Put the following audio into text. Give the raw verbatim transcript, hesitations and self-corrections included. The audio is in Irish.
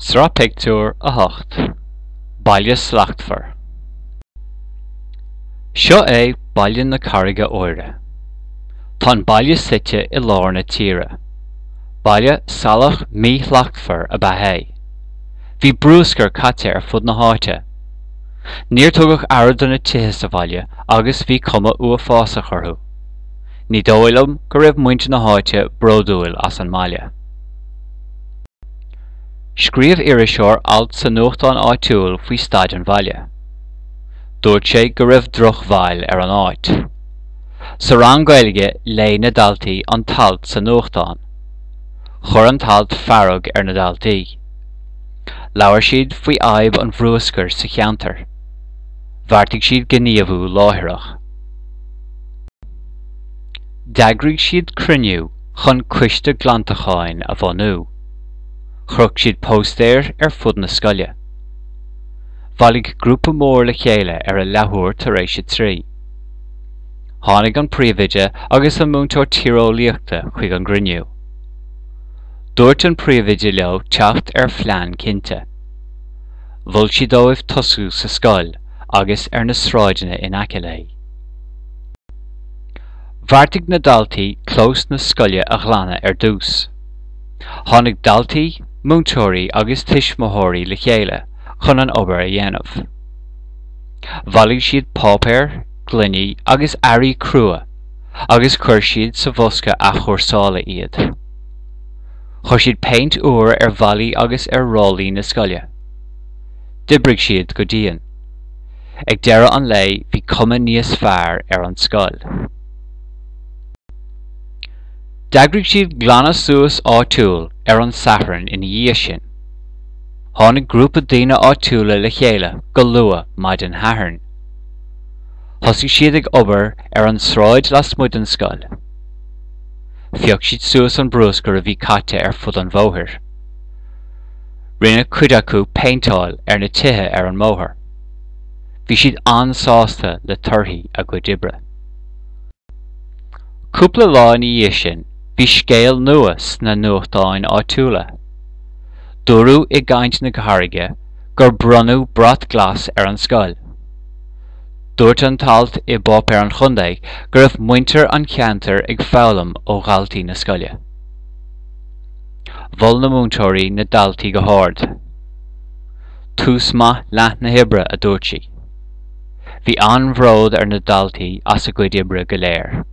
Sraith Pictiúr a hocht. Baile Slachtmhar. Seo é Baile na Carraige Óire. Tá an baile suite i lár na tíre. Baile salach míshlachtmhar ab ea é. Bhí bruscar caite ar fud na háite. Níor tugadh aire do na tithe sa bhaile agus bhí cuma uafásach orthu. Ní dóigh liom go raibh muintir na háite bródúil as an mbaile. Scríobh iriseoir alt sa nuachtán áitiúil faoi staid an bhaile. Dúirt sé go raibh drochbhail ar an áit. Sa rang Gaeilge léigh na daltaí an t-alt sa nuachtán. Chuir an t-alt fearg ar na daltaí. Labhair siad faoi fhadhb an bhruscair sa cheantar. Bheartaigh siad gníomhú láithreach. D'eagraigh siad cruinniú chun coiste glantacháin a bhunú. Chroch siad póstaeir ar fud na scoile. Bhailigh grúpa mór le chéile ar a leathuair tar éis a trí. Tháinig an príomhoide agus an múinteoir tíreolaíochta chuig an gcruinniú. Dúirt an príomhoide leo teacht ar phlean cinnte. Mhol sí dóibh tosú sa scoil agus ar na sráideanna in aice léi. Bheartaigh na daltaí clós na scoile a ghlanadh ar dtús. Tháinig daltaí, múinteoirí agus tuismitheoirí le chéile chun an obair a dhéanamh. Bhailigh siad páipéar, gloiní agus earraí crua agus chuir siad sa bhosca athchúrsála iad. Chuir siad péint úr ar bhallaí agus ar ráillí na scoile. D'oibrigh siad go dian. Ag deireadh an lae bhí cuma níos fearr ar an scoil. D'eagraigh siad glanadh suas áitiúil ar an Satharn ina dhiaidh sin. Tháinig grúpa daoine áitiúla le chéile go luath maidin Shathairn. Thosaigh siad ag obair ar an tsráid lasmuigh den scoil. Phioc siad suas an bruscar a bhí caite ar fud an bhóthair. Rinne cuid acu péinteáil ar na tithe ar an mbóthar. Bhí siad an-sásta le torthaí a gcuid oibre. Cúpla lá ina dhiaidh sin, bhí scéal nua sna nuachtáin áitiúla. Dúradh i gcaint na Carraige gur bronnadh brat glas ar an scoil. Dúirt an t-alt i bpáipéar an chontae go raibh muintir an cheantair ag foghlaim ó dhaltaí na scoile. Mhol na múinteoirí na daltaí go hard. Tús maith leath na hoibre, a dúirt sí. Bhí an-bhród ar na daltaí as a gcuid oibre go léir.